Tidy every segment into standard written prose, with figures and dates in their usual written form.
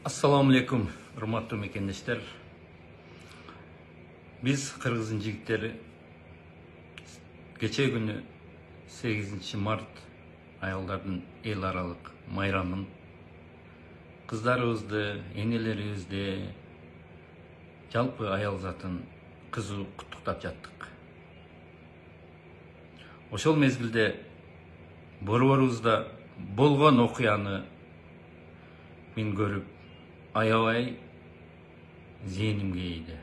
Assalamu alaikum, урматтуу мекендештер. Биз кыргыздын жигиттери кече күнү 8 март аялдардын эл аралык майрамын кыздарыбызды, энелерибизди, жалпы аял затын кызуу куттуктап жаттык. Ошол мезгилде борборубузда болгон окуяны мен көрүп аябай зээнимге ийди.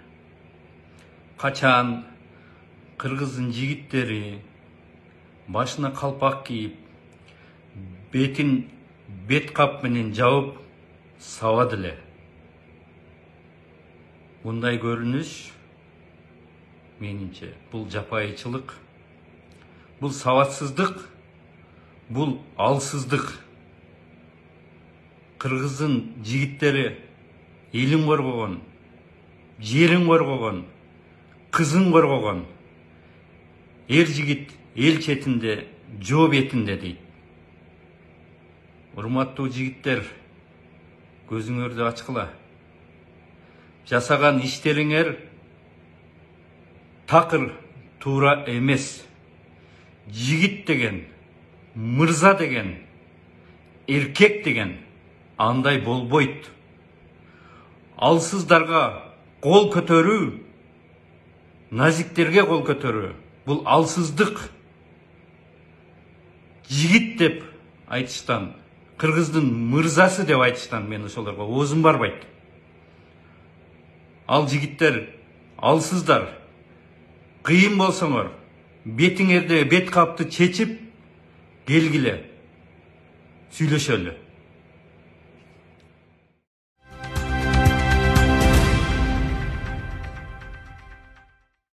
Качан кыргыздын жигиттери башына калпак кийип, бетин бет кап менен жабып сабады эле. Мындай көрүнүш менимче бул жапайычылык, бул сабатсыздык, бул алсыздык. Кыргыздын жигиттери элин коргогон, жерин коргогон, кызын коргогон. Эр жигит эл четинде, жоо бетинде дейт. Урматтуу жигиттер, көзүңөрдү ачкыла. Жасаган иштериңер такыр туура эмес. Жигит деген, мырза деген, эркек деген андай болбойт. Алсыздарга кол көтөрүү, назиктерге кол көтөрүү бул алсыздык. Жигит деп айтыштан, кыргыздын мырзасы деп айтыштан мен ошолорго оозум барбайт. Ал жигиттер алсыздар. Кыйын болсоңор, бетиңерде бет капты чечип келгиле, сүйлөшөлү.